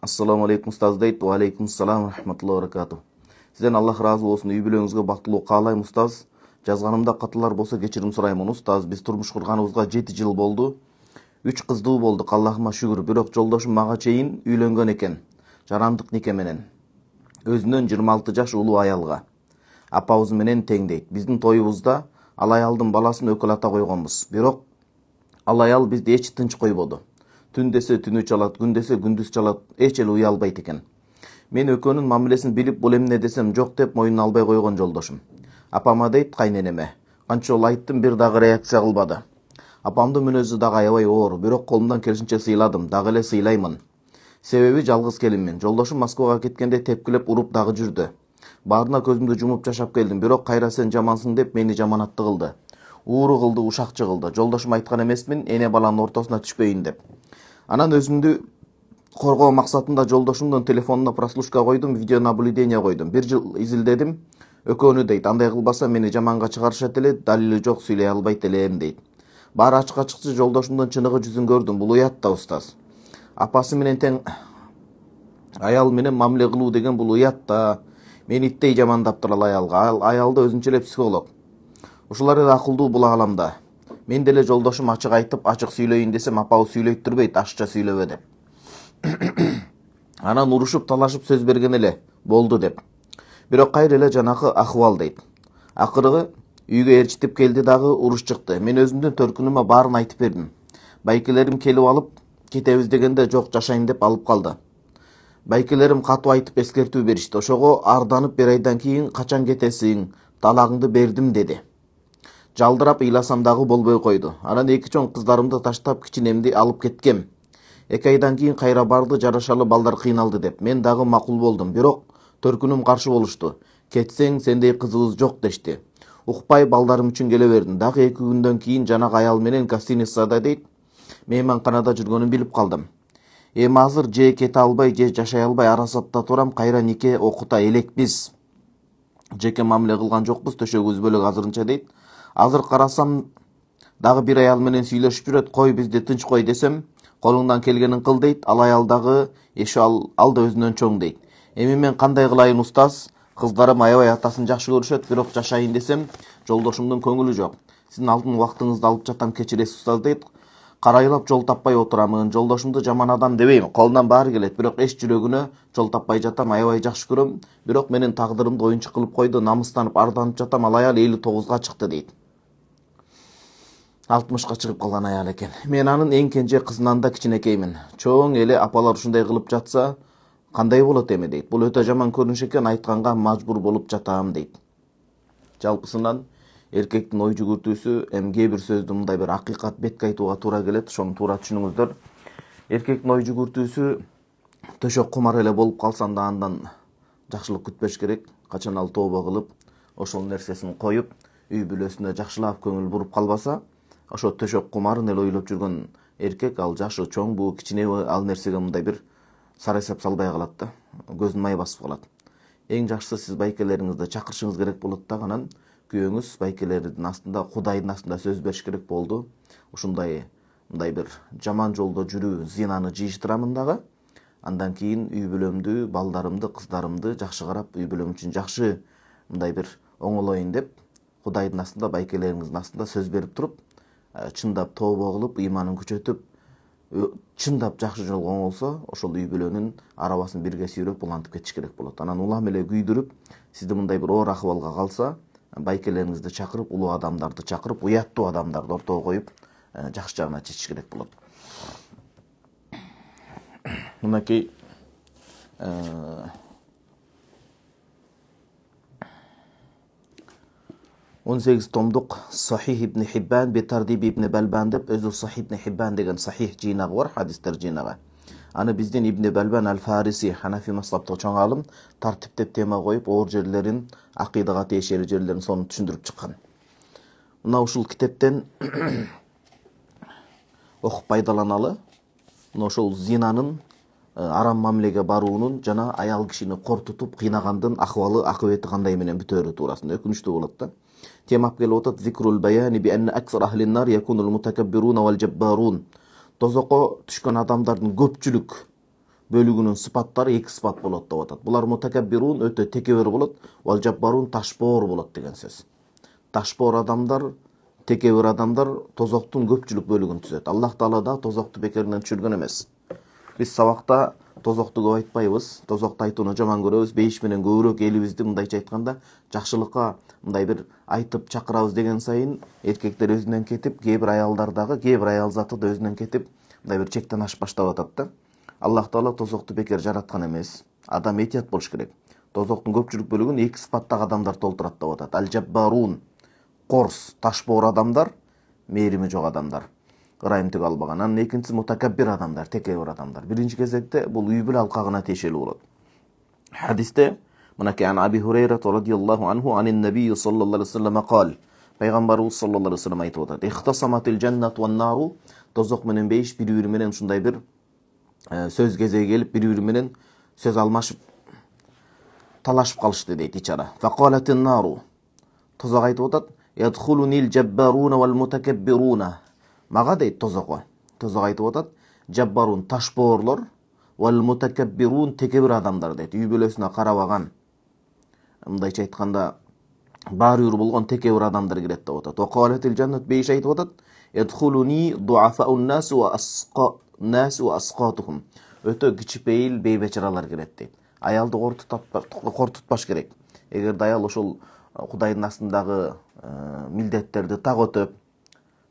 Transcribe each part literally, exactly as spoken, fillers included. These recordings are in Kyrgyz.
Assalamu alaikum ustaz дейт. Wa alaikum salam rahmatullohi wa barakatuh. Сизден Аллах разы болсун. Үй бүлөңүзгө бактылуу каалайм ustaz. Жазганымда катылар болсо кечирим сураймын ustaz. Биз турмуш курганыбызга жети жыл болду. үч кыздуу болдук, Аллахыма шүгүр. Бирок жолдошум мага чейин үйлөнгөн экен. Жарандык нике менен. Өзүнөн жыйырма алты жаш улуу аялга. Апабыз менен тең дейт. Биздин тоюбузда ал аялдын баласын өкүл ата койгонбуз. Бирок ал аял бизди эч тынч койбоду. Түн десе түнү чалат, күн десе күндүз чалат, эч эле уя албайт экен. Мен экөөнүн мамилесин билип, бул эмне десем жок деп моюнуна албай койгон жолдошум. Апама дейт, кайненеме. Канча жолу айттым, бир дагы реакция кылбады. Апамдын мүнөзү дагы аябай оор, бирок колумдан келишинче сыйладым, дагы эле сыйлаймын. Себеби жалгыз келинмин. Жолдошум Москвага кеткенде тепкилеп уруп дагы жүрдү. Баарына көзүмдү жумуп жашап келдим, бирок кайра сен жамансың деп мени жаманатты кылды. Ууру кылды, ушакчы кылды. Жолдошум айткан эмесмин, эне баланын ортосуна түшпөйүн деп. Анан өзүмдү коргоо максатында жолдошумдун телефонуна прослушка койдум, видео наблюдение койдум. Бир жыл изилдедим. Экөөнү дейт, андай кылбаса мени жаманга чыгарышат эле, далили жок, сүйлөй албайт элем дейт. Баары ачык ачыкчы жолдошумдун чыныгы жүзүн көрдүм. Бул уят да устаз. Апасы менен тең аял менен мамиле кылуу деген бул уят да. Мени иттей жамандаптыр ал аялга. Ал аял да өзүнчө эле психолог. Ушулар эле акылдуу бул ааламда. Мен деле жолдошум ачык айтып, ачык сүйлөйүн десем, апабыз сүйлөйт турбайт, ашча сүйлөбө деп. Анан урушуп, талашып сөз берген эле, болду деп. Бирок кайра эле жанакы акыбал дейт. Акыркы үйгө ээрчитип келди дагы уруш чыкты. Мен өзүмдүн төркүнүмө баарын айтып бердим. Байкелерим келип алып кетебиз дегенде жок, жашайм деп алып калды. Байкелерим катуу айтып эскертүү беришти. Ошого арданып бир айдан кийин качан кетесиң, талагыңды бердим деди. Жалдырап ыйласам дагы болбой койду. Анан эки чоң кыздарымды таштап кичинемди алып кеткем. Эки айдан кийин кайра барды, жарашалы балдар кыйналды деп. Мен дагы макул болдум, бирок төркүнүм каршы болушту. Кетсең сендей кызыбыз жок дешти. Укпай балдарым үчүн келе бердим. Дагы эки күндөн кийин жанагы аял менен гостиницада дейт, мейманканада жүргөнүн билип калдым. Эми азыр же кете албай, же жашай албай арасатта турам, кайра нике окута элекпиз. Жеке мамиле кылган жокпуз, төшөгүбүз бөлөк азырынча дейт. Азыр карасам дагы бир аял менен сүйлөшүп жүрөт, кой бизди тынч кой десем, колуңдан келгенин кыл дейт. Ал аял дагы эши ал, ал да өзүнөн чоң дейт. Эми мен кандай кылайын устаз? Кыздарым аябай атасын жакшы көрүшөт, бирок жашайын десем, жолдошумдун көңүлү жок. Сиздин алтын убактыңызды алып жатам, кечиресиз устаз дейт. Карайлап жол таппай отурамын, жолдошумду жаман адам дебейм, колунан баары келет, бирок эч жүрөгүнө жол таппай жатам, аябай жакшы көрөм, бирок менин тагдырымды оюнчук кылып койду, намыстанып арданып жатам, ал аял элүү тогузга чыкты дейт. алтымышка чыгып калган аял экен. Мен анын эң кенже кызынан да кичинекеймин. Чоң эле апалар ушундай кылып жатса, кандай болот эми дейт. Бул өтө жаман көрүнүш экен, айтканга мажбур болуп жатам дейт. Жалпысынан эркектин ой жүгүртүүсү, эми кээ бир сөздү мындай бир акыйкат бетке айтууга туура келет, ошону туура түшүнүңүздөр. Эркектин ой жүгүртүүсү төшөк кумар эле болуп калсам да андан жакшылык күтпөш керек. Качан ал тообо кылып, ошол нерсесин коюп, үй бүлөсүнө жакшылап көңүл буруп калбаса, ошо төшөк кумарын эле ойлоп жүргөн эркек, ал жашы чоң, бул кичине ал нерсеге мындай бир сара эсеп салбай калат да, көзүн май басып калат. Эң жакшысы сиз байкелериңизди чакырышыңыз керек болот да, анан күйөөңүз байкелердин астында, Кудайдын астында сөз бериш керек болду. Ушундай мындай бир жаман жолдо жүрүү, зинаны жыйыштырамын дагы. Андан кийин үй бүлөмдү, балдарымды, кыздарымды жакшы карап, үй бүлөм үчүн жакшы мындай бир оңолоюн деп, Кудайдын астында, байкелериңиздин астында сөз берип туруп, чындап тообо кылып, ыйманын күчөтүп, чындап жакшы жолго оңолсо, ошол үй бүлөнүн арабасын бирге сүйрөп улантып кетиш керек болот. Анан улам эле күйдүрүп, сизди мындай бир оор акыбалга калса, байкелериңизди чакырып, улуу адамдарды чакырып, уяттуу адамдарды ортого коюп, жакшы жагына чечиш керек болот. Мынакей он сегиз томдук Сахих ибн Хиббан бе Тардиб ибн Балбан деп, өзү Сахих ибн Хиббан деген сахих жыйнагы бар, хадистер жыйнагы. Аны биздин Ибн Балбан аль-Фариси, Ханафи мазхабтык чоң алым, тартиптеп тема коюп, оор жерлерин, акыйдага тиешелүү жерлерин сону түшүндүрүп чыккан. Мына ушул китептен окуп пайдаланалы, мына ошол зинанын, арам мамилеге баруунун жана аял кишини кортутуп кыйнагандын акыбалы, акыбети кандай менен бүтөөрү туурасында өкүнүчтүү болот да. Темап келип атат: зикрул баяни би анна аксар ахлин нар якунул мутакаббирун вал жаббарун. Тозокко түшкөн адамдардын көпчүлүк бөлүгүнүн сыпаттары эки сыпат болот деп атат. Булар мутакаббирун өтө текебер болот, вал жаббарун ташбоор болот деген сөз. Ташбоор адамдар, текебер адамдар тозоктун көпчүлүк бөлүгүн түзөт. Аллах Таала да тозокту бекеринен түшүргөн эмес. Биз сабакта тозокту көп айтпайбыз, тозокту айтууну жаман көрөбүз. Бейиш менен көбүрөөк элибизди мындайча айтканда жакшылыкка мындай бир айтып чакырабыз деген сайын эркектер өзүнөн кетип, кээ бир аялдар дагы, кээ бир аял заты да өзүнөн кетип, мындай бир чектен ашып баштап атат да. Аллах Таала тозокту бекер жараткан эмес. Адам этият болуш керек. Тозоктун көпчүлүк бөлүгүн эки сыпаттагы адамдар толтурат деп атат. Аль-жаббарун, корс, ташбоор адамдар, мээрими жок адамдар. Ырайымтык албаган. Анын экинчиси мутакаббир адамдар, текебер адамдар. Биринчи кезекте бул үй бүлө алкагына тиешелүү болот. Хадисте мынакей ан Аби Хурайра радияллаху анху анин набий саллаллаху алейхи ва саллям кал. Пайгамбарыбыз саллаллаху алейхи ва саллям айтып атат. Ихтасаматил джаннату ван нару, тозок менен бейиш бири-бири менен ушундай бир сөз кезеги келип, бири-бири менен сөз алмашып талашып калышты дейт ичара. Факалатин нару, тозок айтып атат, ядхулунил джаббаруна вал мутакаббируна. Мага дейт тозокко. Тозок айтып атат, жаббарун ташбоорлор, вал мутакаббирун текебир адамдар дейт. Үй бүлөсүнө карабаган, мындайча айтканда баары үйүр болгон текебир адамдар кирет деп атат. Вакалатил джаннат, бейиш айтып атат, ядхулуни дуафаун нас ва асқа нас ва асқатухум. Өтө кичипейил бейбечаралар кирет дейт. Аялды кортутпаш керек. Эгерде аял ошол Кудайдын астындагы милдеттерди так өтөп,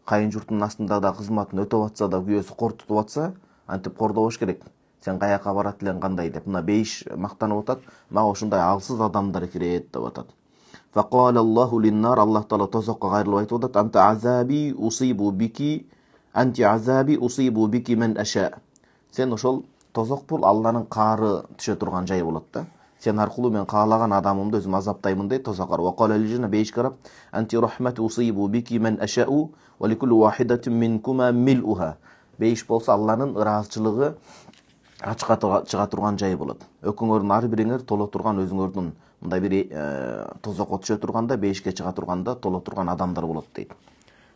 кайын журтунун астында да кызматын өтөп атса да, күйөөсү кортутуп атса, антип кордобош керек. Сен каяка барат элең кандай деп. Мына бейиш мактанып атат, мага ушундай алсыз адамдар кирет деп атат. Факала Аллаху линнар, Аллах Таала тозокко кайрылып айтып атат, анта азаби усибу бики, анти азаби усибу бики мен аша. Сен ошол тозок бул Алланын каары түшө турган жай болот да. Сен аркылуу мен каалаган адамымды өзүм азаптаймын дейт тозоккар. Вакала лижина, бейиш карап, анти рахмату усибу бики мен ашау ва ликулли вахидатин минкума милуха. Бейиш болсо Алланын ыраазычылыгы ачка чыга турган жай болот. Өкүңөрдүн ар бириңер толо турган, өзүңөрдүн мындай бир тозокко түшө турганда, бейишке чыга турганда толо турган адамдар болот дейт.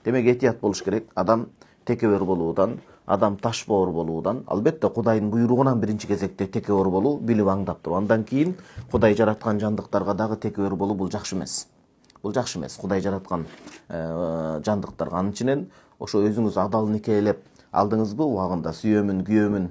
Демек этият болуш керек. Адам текебер болуудан, адам ташбоор болуудан, албетте Кудайдын буйругунан биринчи кезекте текебер болуу билип аңдап туруп. Андан кийин Кудай жараткан жандыктарга дагы текебер болуу бул жакшы эмес. Бул жакшы эмес. Кудай жараткан жандыктарга анын ичинен ошо өзүңүз адал никелеп алдыңызбы, убагында сүйөмүн, күйөөмүн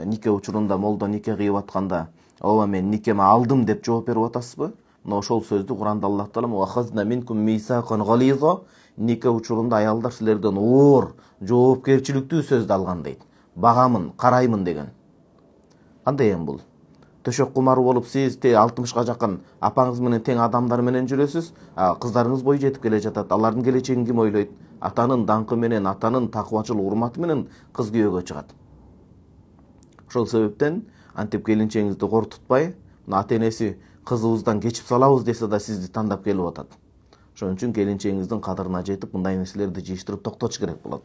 нике учурунда молдо нике кыйып атканда, ооба мен никеме алдым деп жооп берип атасызбы? Мына ошол сөздү Куранда Аллах Таала "Вахазна минкум мисакан гализа", нике учурунда аялдар силерден оор, жоопкерчиликтүү сөздү алган дейт. Багамын, караймын деген. Кандай эми бул? Төшөк кумары болуп сиз те алтымышка жакын апаңыз менен тең адамдар менен жүрөсүз, кыздарыңыз бой жетип келе жатат. Алардын келечегин ким ойлойт? Атанын даңкы менен, атанын такыбачылык урматы менен кыз күйөөгө чыгат. Ошол себептен антип келинчегиңизди кортутпай, ата-энеси кызыбыздан кечип салабыз десе да сизди тандап келип атат. Ошон үчүн келинчегиңиздин кадырына жетип, мындай нерселерди жыйыштырып токтотуш керек болот.